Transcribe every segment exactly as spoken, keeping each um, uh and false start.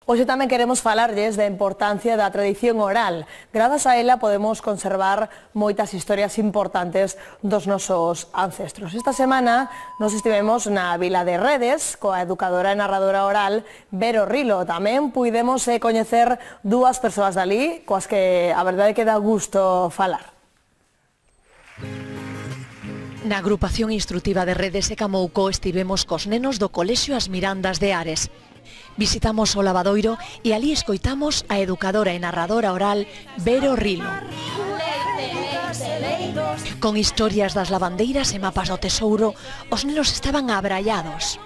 Hoxe tamén queremos falarlles da importancia da tradición oral. Grazas a ela podemos conservar moitas historias importantes dos nosos ancestros. Esta semana nos estivemos na vila de Redes coa educadora e narradora oral Vero Rilo. Tamén puidemos eh, coñecer dúas persoas dali coas que a verdade que dá gusto falar. Na agrupación instrutiva de Redes e Camouco estivemos cos nenos do Colexio As Mirandas de Ares. Visitamos o lavadoiro e ali escoitamos a educadora e narradora oral Vero Rilo. Con historias das lavandeiras e mapas do tesouro, os nenos estaban abrallados.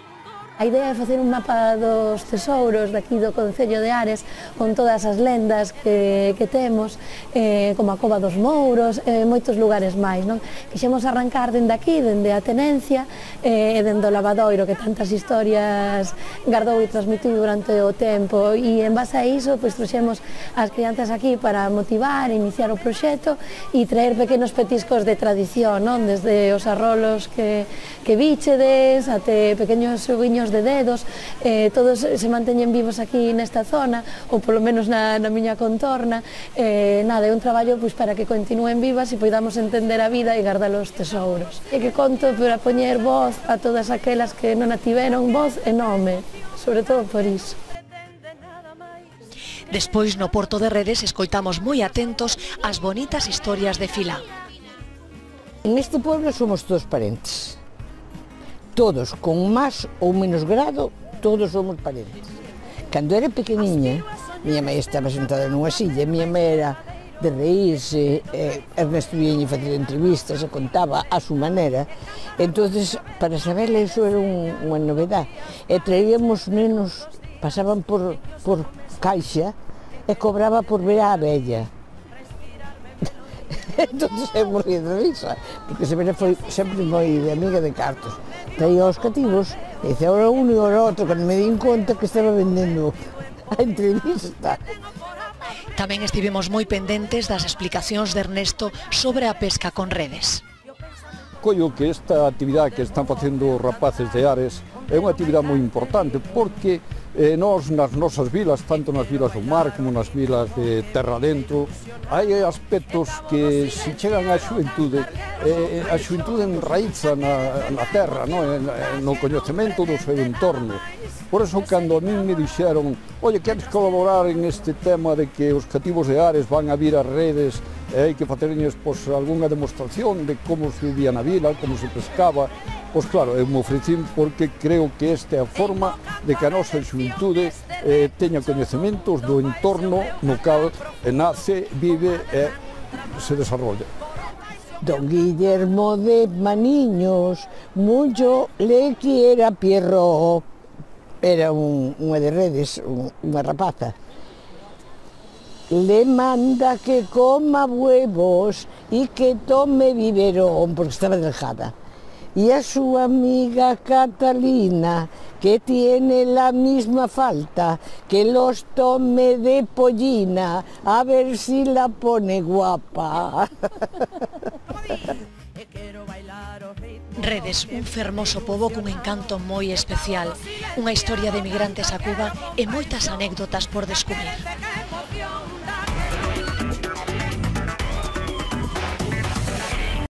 A idea é facer un mapa dos tesouros daqui do Concello de Ares con todas as lendas que, que temos, eh, como a Cova dos Mouros e eh, moitos lugares máis, non? Quixemos arrancar dende aquí, dende a tenencia e eh, dende o lavadoiro que tantas historias gardou e transmitiu durante o tempo, e en base a iso pois, trouxemos as crianzas aquí para motivar, iniciar o proxecto e traer pequenos petiscos de tradición, non? Desde os arrolos que, que bichedes até pequenos xoguiños de dedos, eh, todos se manteñen vivos aquí nesta zona, ou polo menos na, na miña contorna. Eh, nada, é un traballo pois, para que continúen vivas e poidamos entender a vida e guardar os tesouros. E que conto para poñer voz a todas aquelas que non a tiveron voz e nome, sobre todo por iso. Despois no Porto de Redes escoitamos moi atentos as bonitas historias de Filán. Neste pueblo somos todos parentes. Todos, con máis ou menos grado, todos somos parentes. Cando era pequeniña, miña mãe estaba sentada nunha silla, miña mãe era de reírse, eh, Ernesto viña facer entrevistas e contaba a súa maneira. Entonces, para saber iso era un, unha novedade. E traíamos nenos, pasaban por, por caixa e cobraba por ver a abella. Entonces eu morría de risa, porque se vera foi sempre moi de amiga de cartos. Traía aos cativos e dice, ora uno e ora outro, cando me din conta que estaba vendendo a entrevista. Tamén estivemos moi pendentes das explicacións de Ernesto sobre a pesca con redes. Collo que esta actividade que están facendo os rapaces de Ares é unha actividade moi importante, porque eh, nós nas nosas vilas, tanto nas vilas do mar como nas vilas de terra dentro, hai aspectos que se chegan á xuventude, eh, a xuventude enraiza na, na terra, no? no coñecemento do seu entorno. Por eso, cando a min me dixeron, oye, queres colaborar en este tema de que os cativos de Ares van a vir a Redes e hai que facerles pois, algunha demostración de como se vivía na vila, como se pescaba, pois claro, eu me ofrecín porque creo que esta é a forma de que a nosa xuventude eh, teña coñecementos do entorno no cal nace, vive e se desarrolla. Don Guillermo de Maniños, mucho le quiera Pierro, era un, unha de Redes, un, unha rapaza. Le manda que coma huevos y que tome biberón, porque estaba delgada. Y a su amiga Catalina, que tiene la misma falta, que los tome de pollina, a ver si la pone guapa. Redes, un fermoso pobo cun encanto moi especial, unha historia de migrantes a Cuba e moitas anécdotas por descubrir.